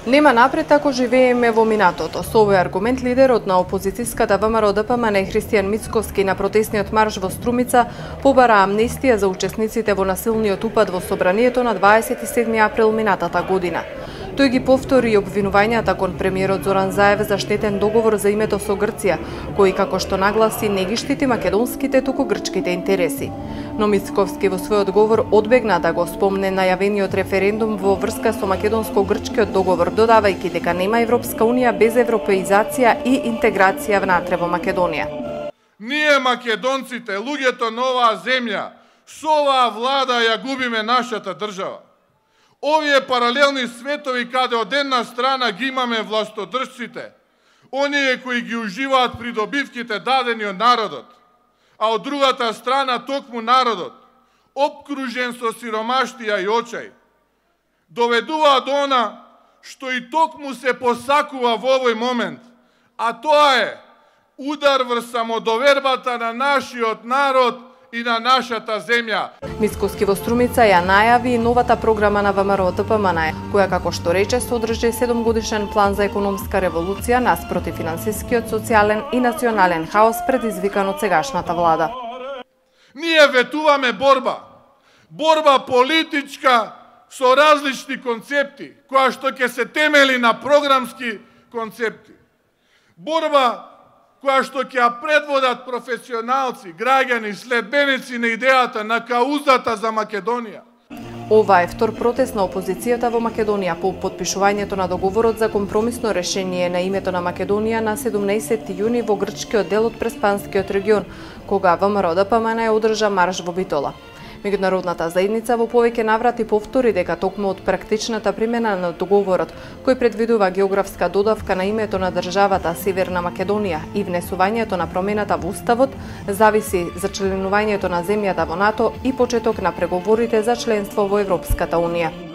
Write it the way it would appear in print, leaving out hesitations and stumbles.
Нема напред ако живееме во минатото. Со овој аргумент лидерот на опозицијската ВМРО-ДПМН Христијан Мицкоски на протесниот марш во Струмица побара амнестија за учесниците во насилниот упад во собранието на 27 април минатата година. Тој ги повтори и обвинувањата кон премиерот Зоран Заев за штетен договор за името со Грција, кој како што нагласи не ги штити македонските туку грчките интереси. Но Мицковски во својот говор одбегна да го спомне најавениот референдум во врска со македонско-грчкиот договор, додавајќи дека нема Европска унија без европеизација и интеграција внатре во Македонија. Ние македонците, луѓето на оваа земја, со оваа влада ја губиме нашата држава. Овие паралелни светови каде од една страна ги имаме властодржците, оние кои ги уживаат придобивките дадени од народот, а од другата страна токму народот, обкружен со сиромаштија и очај, доведува до она што и токму се посакува во овој момент, а тоа е удар врз самодовербата на нашиот народ и на нашата земја. Мицкоски во Струмица ја најави новата програма на ВМРО-ДПМН, која како што рече содржи 7-годишен план за економска револуција наспроти финансискиот, социјален и национален хаос предизвикан од сегашната влада. Ние ветуваме борба политичка со различни концепти, која што ќе се темели на програмски концепти. Борба која што ќе ја предводат професионалци, граѓани, следбеници на идејата на каузата за Македонија. Ова е втор протест на опозицијата во Македонија по потпишувањето на договорот за компромисно решение на името на Македонија на 17 јуни во грчкиот дел од Преспанскиот регион, кога ВМРО-ДПМН одржа марш во Битола. Меѓународната заедница во повеќе наврати повтори дека токму од практичната примена на договорот, кој предвидува географска додавка на името на државата Северна Македонија и внесувањето на промената во уставот, зависи зачленувањето на земјата во НАТО и почеток на преговорите за членство во Европската унија.